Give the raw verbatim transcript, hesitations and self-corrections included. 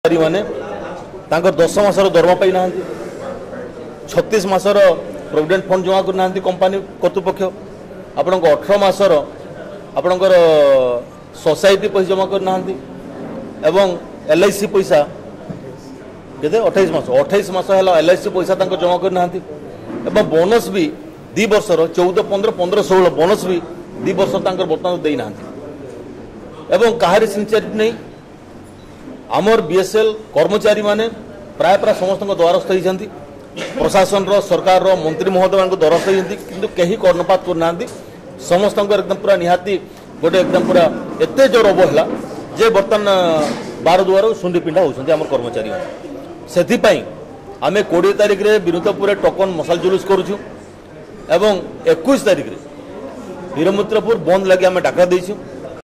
ମାନେ ତାଙ୍କର ଦଶ ମାସର ଦରମା ପାଇନାହାନ୍ତି, ଛତିଶ ମାସର ପ୍ରୋଭିଡେଣ୍ଟ ଫଣ୍ଡ ଜମା କରିନାହାନ୍ତି କମ୍ପାନୀ କର୍ତ୍ତୃପକ୍ଷ, ଆପଣଙ୍କ ଅଠର ମାସର ଆପଣଙ୍କର ସୋସାଇଟି ପଇସା ଜମା କରିନାହାନ୍ତି ଏବଂ ଏଲ୍ I C ପଇସା କେତେ ଅଠେଇଶ ମାସ, ଅଠେଇଶ ମାସ ହେଲା ଏଲ୍ I C ପଇସା ତାଙ୍କ ଜମା କରିନାହାନ୍ତି ଏବଂ ବୋନସ୍ ବି ଦୁଇ ବର୍ଷର ଚଉଦ ପନ୍ଦର, ପନ୍ଦର ଷୋହଳ ବୋନସ୍ ବି ଦୁଇ ବର୍ଷ ତାଙ୍କର ବର୍ତ୍ତମାନ ଦେଇନାହାନ୍ତି ଏବଂ କାହାରି ସିନସିୟରିଟି ନେଇ। ଆମର ବିଏସ୍ଏଲ୍ କର୍ମଚାରୀମାନେ ପ୍ରାୟ ପ୍ରାୟ ସମସ୍ତଙ୍କ ଦ୍ୱାରସ୍ଥ ହେଇଛନ୍ତି, ପ୍ରଶାସନର, ସରକାରର, ମନ୍ତ୍ରୀ ମହୋଦୟଙ୍କ ଦ୍ୱାରସ୍ଥ ହେଇଛନ୍ତି, କିନ୍ତୁ କେହି କର୍ଣ୍ଣପାତ କରୁନାହାନ୍ତି। ସମସ୍ତଙ୍କର ଏକଦମ ପୁରା ନିହାତି ଗୋଟେ ଏକଦମ ପୁରା ଏତେ ଜୋର ଅବହେଳା ଯେ ବର୍ତ୍ତମାନ ବାର ଦୁଆର ଶୁଣ୍ଡି ପିଣ୍ଡା ହେଉଛନ୍ତି ଆମର କର୍ମଚାରୀମାନେ। ସେଥିପାଇଁ ଆମେ କୋଡ଼ିଏ ତାରିଖରେ ବିନୋଦପୁରରେ ଟୋକନ ମଶାଲ ଜୁଲୁସ କରୁଛୁ ଏବଂ ଏକୋଇଶ ତାରିଖରେ ବୀରମିତ୍ରପୁର ବନ୍ଦ ଲାଗି ଆମେ ଡାକରା ଦେଇଛୁ।